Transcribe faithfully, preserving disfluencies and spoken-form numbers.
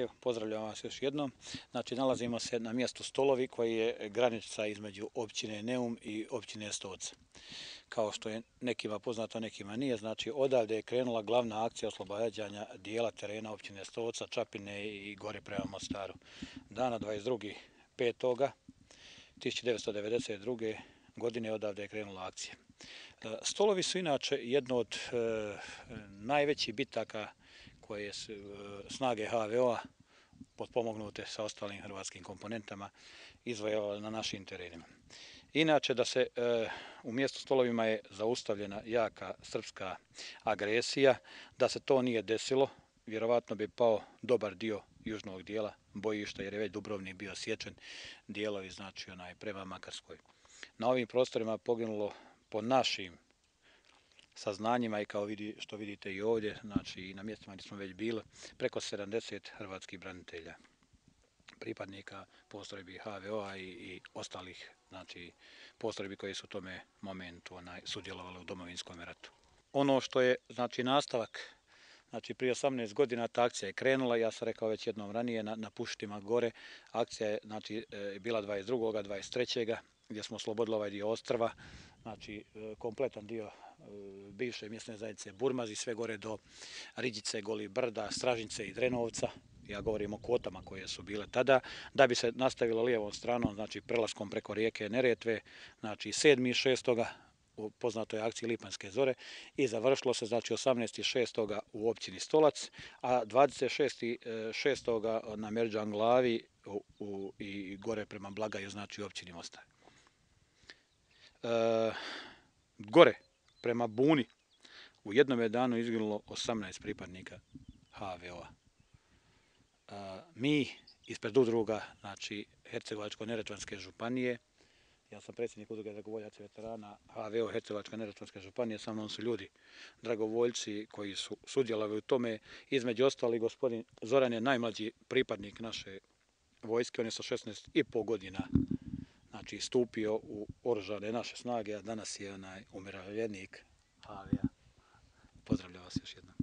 Evo, pozdravljam vas još jednom. Znači, nalazimo se na mjestu Stolovi koji je granica između općine Neum i općine Stoca. Kao što je nekima poznato, nekima nije, znači odavde je krenula glavna akcija oslobađanja dijela terena općine Stoca, Čapine i gore prema Mostaru. Dana dvadeset drugog petog tisuće devetsto devedeset druge godine odavde je krenula akcija. Stolovi su inače jedno od e, najvećih bitaka koje su e, snage H V O-a potpomognute sa ostalim hrvatskim komponentama izvojevale na našim terenima. Inače da se e, u mjestu Stolovima je zaustavljena jaka srpska agresija, da se to nije desilo, vjerovatno bi pao dobar dio južnog dijela bojišta jer je već Dubrovnik bio sječen, dijelovi znači onaj prema Makarskoj. Na ovim prostorima poginulo po našim saznanjima i kao vidi, što vidite i ovdje, znači i na mjestima gdje smo već bili, preko sedamdeset hrvatskih branitelja, pripadnika postrojbi H V O-a i, i ostalih znači, postrojbi koji su u tome momentu onaj, sudjelovali u Domovinskom ratu. Ono što je znači, nastavak, znači prije osamnaest godina ta akcija je krenula, ja sam rekao već jednom ranije na, na Pušitima gore, akcija je znači, bila dvadeset drugog dvadeset trećeg gdje smo oslobodili ovaj dio ostrva, znači kompletan dio bivše mjesne zajednice Burmaz i sve gore do Riđice, Golih brda, Stražnice i Drenovca. Ja govorim o kvotama koje su bile tada, da bi se nastavilo lijevom stranom, znači prelaskom preko rijeke Neretve, znači sedmog šestog u poznatoj akciji Lipanjske zore i završilo se znači osamnaestog šestog u općini Stolac, a dvadeset šestog šestog na Merđan glavi u, u, i gore prema Blagaju, znači u općini Mostar. E, gore prema Buni u jednom je danu izginulo osamnaest pripadnika H V O-a. E, mi ispred udruga, znači Hercegovačko-neretvanske županije, ja sam predsjednik udruge dragovoljaca veterana H V O Hercegovačko-neretvanske županije, sa mnom su ljudi, dragovoljci koji su sudjelovali u tome, između ostali gospodin Zoran je najmlađi pripadnik naše vojske, on je sa šesnaest i pol godina znači, stupio u oružane naše snage, a danas je onaj umirovljenik H V O-a. Pozdravljam vas još jednom.